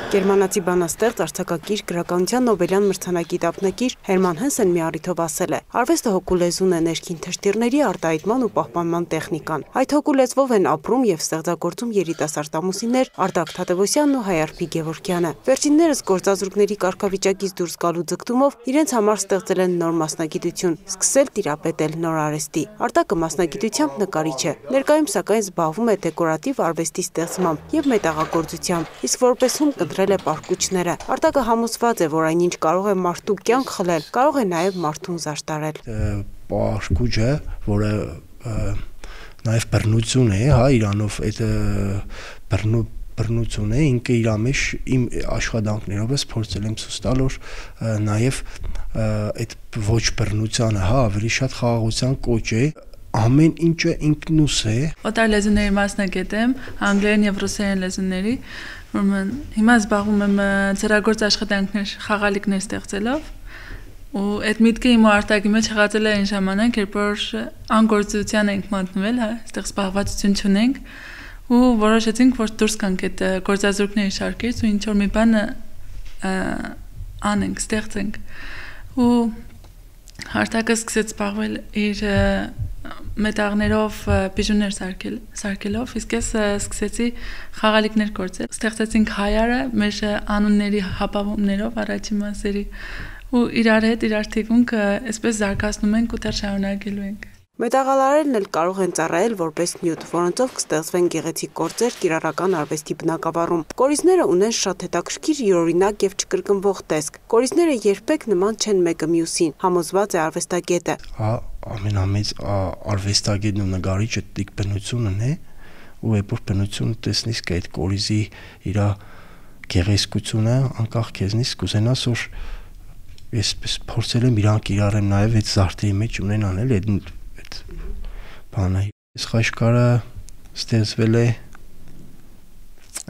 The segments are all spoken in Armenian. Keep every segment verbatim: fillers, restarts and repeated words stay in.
Գերմանացի բանաստեղծ, արձակագիր, գրականության Նոբելյան մրցանակի դափնեկիր Հերման Հեսեն մի առիթով ասել է. արվեստը հոգու լեզուն է ներքին թշտիրների արտահայտման ու պահպանման տեխնիկան։ Այդ հոգու լեզվով են ապրում եւ ստեղծագործում երիտասարդ ամուսիններ Արտակ Թադևոսյանն ու Հայարփի Գևորգյանը։ Վերջիններս գործազուրկների կարգավիճակից դուրս գալու ձգտումով իրենց համար ստեղծել են նոր մասնագիտություն, սկսել տիրապետել նոր արվեստի։ Արտակը մասնագիտությամբ նկարիչ է, ներկայում սակայն զբաղվում է դեկորատիվ արվեստի ստեղծմամբ եւ մետաղագործությամբ, իսկ որպես հում կտրել է պարկուճները։ Արտակը համոզված է, որ այնինչ կարող է մարդու կյանք խլել, կարող է նաեւ մարդուն զարդարել։ Պարկուճը, որը նաեւ բռնություն է, հա, իրանով այդ բռնու բռնություն է, ինքը իր մեջ իմ աշխատանքներով ես փորձել եմ ցույց տալ, որ նաեւ այդ ոչ բռնությանը, հա, ավելի շատ խաղաղության կոչ է, ամեն ինչը ինքնուս է։ Օտար լեզուների մասնագետ եմ, անգլերեն եւ ռուսերեն լեզուների, ուրեմն հիմա զբաղվում եմ ծրագրգործ աշխատանքներ, խաղալիքներ ստեղծելով, ու այդ միտքը իմ արտակի մեջ հղացել է այն ժամանակ, երբ որ անգործության ենք մատնվել, հա, այստեղ զբաղվածություն չունենք, ու որոշեցինք, որ դուրս գանք այդ գործազուրկների շարքից ու ինչ որ մի բան անենք, ստեղծենք։ Ու Արտակը սկսեց զբաղվել իր մետաղներով բիժուներ սարքելով, իսկ ես սկսեցի խաղալիքներ գործել։ Ստեղծեցինք հայարը մեր անունների հապավումներով առաջի մասերի ու իրար հետ իրար թիկունքը այսպես զարգացնում ենք ու դեռ շարունակելու ենք։ Մետաղալարերն էլ կարող են ծառայել որպես նյութ, որոնցով կստեղծվեն գեղեցիկ գործեր կիրառական արվեստի բնագավառում։ Կորիզները ունեն շատ հետաքրքիր յուրօրինակ եւ չկրկնվող տեսք։ Կորիզները երբեք նման չեն մեկը մյուսին, համոզված է արվեստագետը։ Հա, ամենամեծ արվեստագետն ու նկարիչը դիք բնությունն է, ու երբ բնությունը տեսնես կա այդ կորիզի իր գեղեցկությունը, անկախ քեզնից կուզենաս որ ես փորձել եմ իրանք իրարեմ նաեւ այդ զարդերի մեջ ունենան էլ այդ բանը։ Այս խաչքարը ստեղծվել է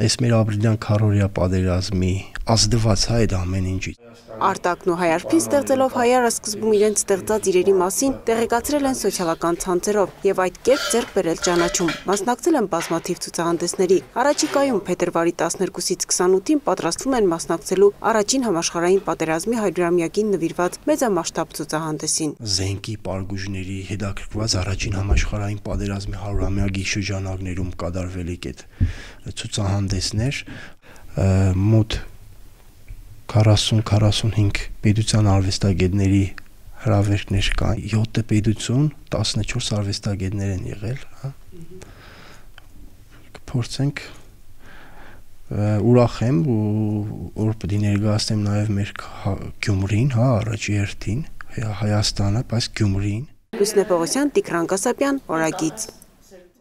այս մեր ապրիլյան քառօրյա պատերազմի ազդված է այդ ամեն ինչից։ Արտակն ու Հայարփին ստեղծելով հայարը սկզբում իրենց ստեղծած իրերի մասին տեղեկացրել են սոցիալական ցանցերով եւ այդ կերպ ձեռք բերել ճանաչում։ Մասնակցել են բազմաթիվ ցուցահանդեսների։ Առաջիկայում փետրվարի տասներկուսից քսանութին պատրաստվում են մասնակցելու առաջին համաշխարհային պատերազմի հարյուրամյակին նվիրված մեծամասշտաբ ցուցահանդեսին։ Զենքի պարգուժների հետաքրքրված առաջին համաշխարհային պատերազմի հարյուրամյակի շրջանակներում կատարվելիք այդ ցուցահանդեսներ մոտ քառասուն քառասունհինգ պետության արվեստագետների հրավերներ կան, յոթ պետություն, տասնչորս արվեստագետներ են եղել, հա։ Կփորձենք ուրախ եմ ու որ պետք է ներկայացնեմ նաև մեր Գյումրին, հա, առաջի հերթին, Հայաստանը, բայց Գյումրին։ Լուսնե Պողոսյան, Տիգրան Կասապյան, Օրագիծ։